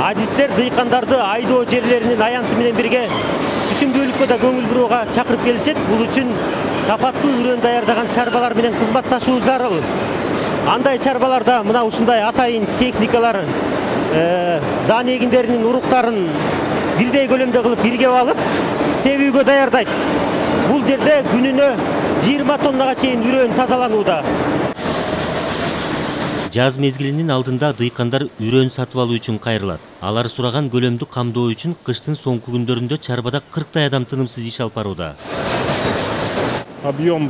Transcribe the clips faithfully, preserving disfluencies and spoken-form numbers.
Адистер дыйкандарды айдоо жерлеринин аянты менен бирге түшүмдүүлүккө да көңүл бурууга чакырып келишет. Бул үчүн сапаттуу үрөн даярдаган чарбалар менен кызматташуу зарыл. Андай чарбаларда мына ушундай атайын техникалар даан эгиндеринин уруктарын бирдей көлөмдө кылып бирге алып, себүүгө даярдайт. Бул жерде күнүнө жыйырма тоннага чейин үрөн тазаланууда. Жаз мезгилинин алдында дыйкандар үрөн сатып алуу үчүн кайрылат. Алар сураган көлөмдү камдоо үчүн кыштын соңку күндөрүндө чарбада кырктай адам тынымсыз иш алып барууда. Объем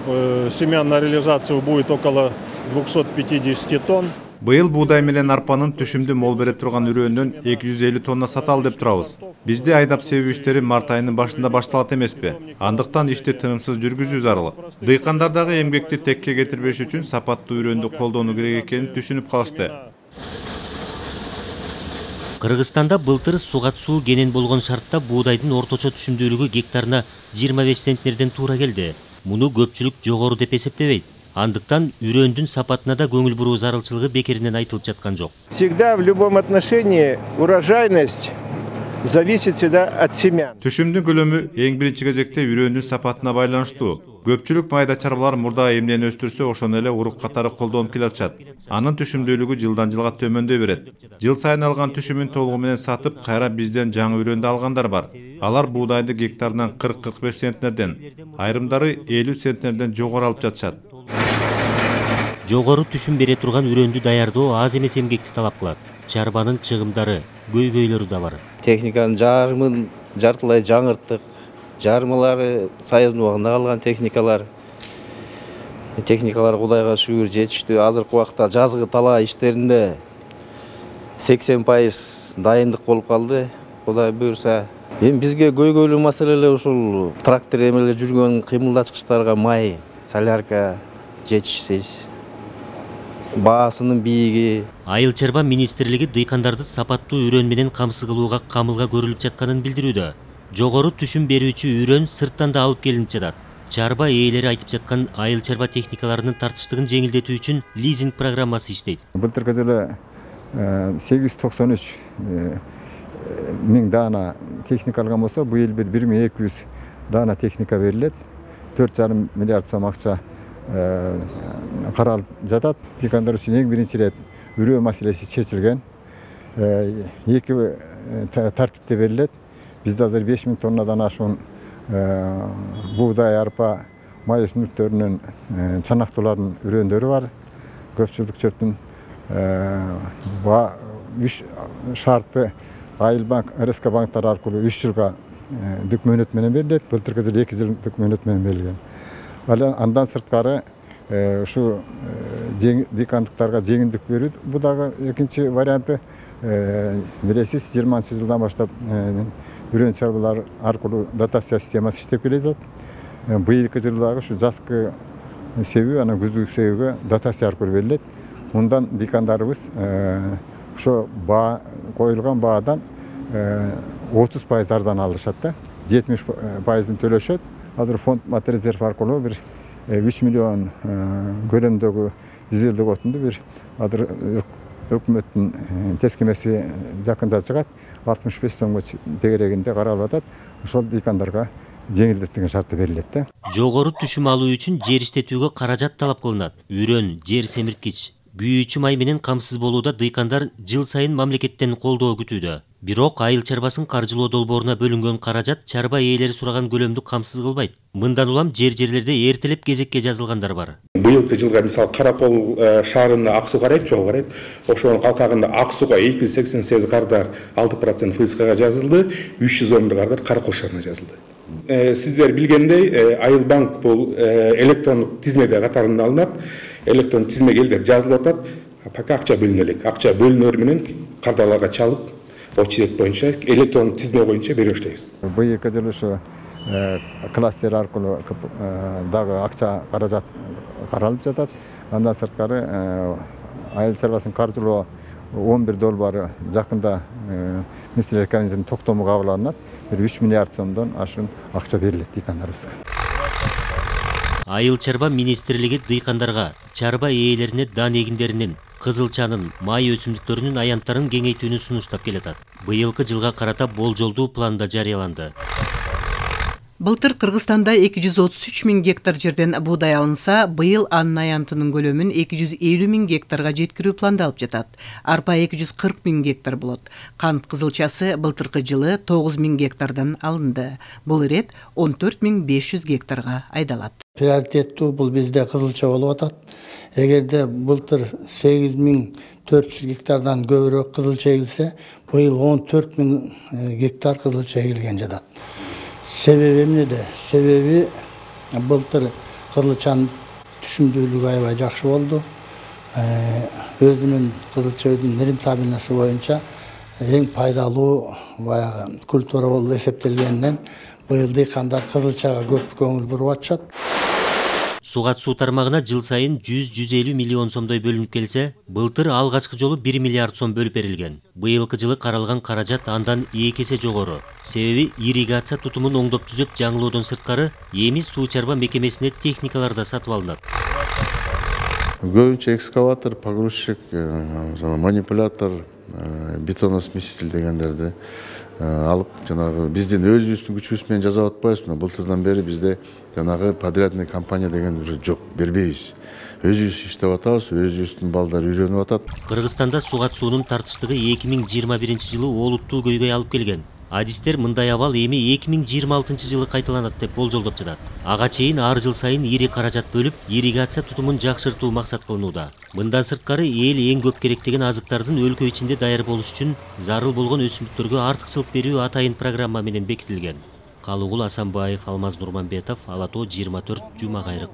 семян на реализацию будет около двухсот пятидесяти тонн. Быйыл буудай менен арпанын түшүмдүү мол берип турган үрөндөн эки жүз элүү тонна саталы деп турабыз. Бизде айдап себүү иштери март айынын башында башталат эмеспи? Андыктан ишти тынымсыз жүргүзүү зарыл. Дыйкандардагы эмгекти текке кетирбеш үчүн сапаттуу үрөндү колдонуу керек экенин түшүнүп калышты. Кыргызстанда былтыр сугат суу кенен болгон шартта буудайдын орточо түшүмдүүлүгү гектарына жыйырма беш центнерден туура келди. Муну көпчүлүк жогору деп эсептебейт. Андыктан үрөндүн сапатына да көңүл буруу зарылчылыгы бекеринен айтылып жаткан жок. Всегда в любом отношении урожайность зависит всегда от семян. Түшүмдүн көлөмү эң биринчи кезекте үрөндүн сапатына байланыштуу. Көпчүлүк майда чарбалар мурда эмнени өстүрсө, ошону эле урук катары колдонуп келатышат. Анын түшүмдүүлүгү жылдан жылга төмөндөй берет. Жыл сайын алган түшүмүн толугу менен сатып, кайра бизден жаңы үрөндү алгандар бар. Алар буудайды гектарынан кырк кырк беш центнерден, айрымдары элүү центнерден жогору алып жатышат. Жогору түшүм бере турган үрөндү даярдоо аз эмес эмгекти талап кылат. Чарбанын чыгымдары, көйгөйлөрү да бар. Техниканын жарымын жартылай жаңырттык. Жармалары Союздун убагында калган техникалар. Техникалар Кудайга шүгүр жетиштүү. Азыркы убакта жазгы талаа иштеринде сексен пайыз дайындык болуп калды. Кудай буйрса. Эми бизге көйгөйлүү маселелер ушул трактор эмелер жүргөн кыймылдаткычтарга май, солярка жетишсиз. Баасынын бийиги. Айыл чарба министрлиги дыйкандарды сапаттуу үрөн менен камсыз кылууга камылга көрүлүп жатканын билдирүүдө. Жогору түшүм берүүчү үрөн сырттан да алып келинип жатат. Чарба ээлери айтып жаткан айыл чарба техникаларынын тартыштыгын жеңилдетүү үчүн лизинг программасы иштейт. Былтыркы жылы сегиз жүз токсон үч миң даана техника алган болсо, быйыл бир миң эки жүз даана техника берилет. төрт жарым миллиард сом акча каралып жатат. Дыйкандар үчүн эң биринчи ирет үрөө маселеси чечилген. Эки тартипте берилет. Бизде азыр беш миң тоннадан ашуун буудай, арпа, май өсүмдүктөрүнүн чанактуулардын үрөндөрү бар. Көпчүлүк чөптүн үч шартты Айыл банк, эр эс ка банктар аркылуу үч жылга дик мөөнөт менен берилет. Былтыркы жылы эки жылдык мөөнөт менен берилген. Андан сырткары ушу дыйкандыктарга жеңилдик берүү. Бу дагы экинчи варианты. Билесиз, жыйырманчы жылдан баштап үрөн чарбалар аркылуу дотация системасы иштеп келет. Быйылкы жылдагы ушу жазкы себүү, анан күздүк себүүгө дотация аркылуу берилет. Мындан дыйкандарыбыз ошо баа коюлган баадан отуз пайыз арзан алышат да. жетимиш пайызын төлөшөт. Азыр фонд материалдер аркылуу бир үч миллион көлөмдөгү дизелдик отунду бир азыр өкмөттүн тескемеси жакында чыгат. алтымыш беш сомго тегерегинде каралып атат. Ошол дыйкандарга жеңилдетилген шартта берилет да. Жогору түшүм алуу үчүн жер иштетүүгө каражат талап кылынат. Үрөн, жер семирткич, күйүүчү май менен камсыз болууда дыйкандар жыл сайын мамлекеттен колдоо күтүүдө. Бирок айыл чарбасын каржылоо долборуна бөлүнгөн каражат чарба ээлери сураган көлөмдү камсыз кылбайт. Мындан улам жер-жерлерде эртелеп кезекке жазылгандар бар. Быйылкы жылга мисалы Каракол шаарында ак суу карайт, жок карайт. Ошонун калкагында ак сууга эки жүз сексен сегиз кардар алты процент эф эс кга жазылды, үч жүз он бир кардар Каракол шаарына жазылды. Сиздер билгендей, Айыл банк бул электрондук тизмеде катарында алынат. Электрондук тизмеге элдер жазылып атат. Пока акча бөлүнө элек. Акча бөлүнөр менен кардарларга чалып, очеред боюнча электрондук тизме боюнча бере баштайбыз. Быйылкы жылы ушу кластер аркылуу дагы акча каражат каралып жатат. Андан сырткары айыл чарбасын каржылоо он бир долбоору жакында Министрлер комитетинин токтому кабыл алынат. бир үч миллиард сомдон ашуун акча берилет дыйкандарыбызга. Айыл чарба министрлиги дыйкандарга, чарба ээлерине даан эгиндеринин кызылчанын, май өсүмдүктөрүнүн аянттарын кеңейтүүнү сунуштап келатат. Быйылкы жылга карата болжолдуу план да жарыяланды. Былтыр Кыргызстанда эки жүз отуз үч миң гектар жерден буудай алынса, быйыл анын аянтынын көлөмүн эки жүз элүү миң гектарга жеткирүү пландалып жатат. Арпа эки жүз кырк миң гектар болот. Кант кызылчасы былтыркы жылы тогуз миң гектардан алынды. Бул ирет он төрт миң беш жүз гектарга айдалат. Приоритеттүү бул бизде кызылча болуп атат. Эгерде былтыр сегиз миң төрт жүз гектардан көбүрөөк кызылча эгилсе, быйыл он төрт миң гектар кызылча эгилген жатат. Себеби эмнеде? Себеби былтыр кызылчанын түшүмдүүлүгү аябай жакшы болду. Өзүнүн кызылча өзүнүн рентабельности боюнча эң пайдалуу баягы культура болуп эсептелгенден быйыл дыйкандар кызылчага көп көңүл буруп атышат. Сугат суу тармагына жыл сайын жүз жүз элүү миллион сомдой бөлүнүп келсе, былтыр алгачкы жолу бир миллиард сом бөлүп берилген. Быйылкы жылы каралган каражат андан эки эсе жогору. Себеби ирригация тутумун оңдоп түзөп жаңылоодон сырткары эми суу чарба мекемесине техникалар да сатып алынат. Көбүнчө экскаватор, погрузчик, манипулятор, бетоносмеситель дегендерди алып, жанагы биздин өзүбүздүн күчүбүз менен жасап атпайбыз. Былтырдан бери бизде жанагы подрядный компания деген уже жок, бербейбиз. Өзүбүз иштеп атабыз, өзүбүздүн балдар үйрөнүп атат. Кыргызстанда сугат суунун тартыштыгы эки миң жыйырма биринчи жылы олуттуу көйгөй алып келген. Адистер мындай абал эми эки миң жыйырма алтынчы жылы кайталанат деп болжолдоп жатат. Ага чейин ар жыл сайын ири каражат бөлүп, ирригация тутумун жакшыртуу максат кылынууда. Мындан сырткары эл эң көп керектеген азыктардын өлкө ичинде даяр болуш үчүн зарыл болгон өсүмдүктөргө артыкчылык берүү атайын программа менен бекитилген. Калыгул Асанбаев, Алмаз Нурманбетов, Ала Тоо жыйырма төрт, Жума Кайрык.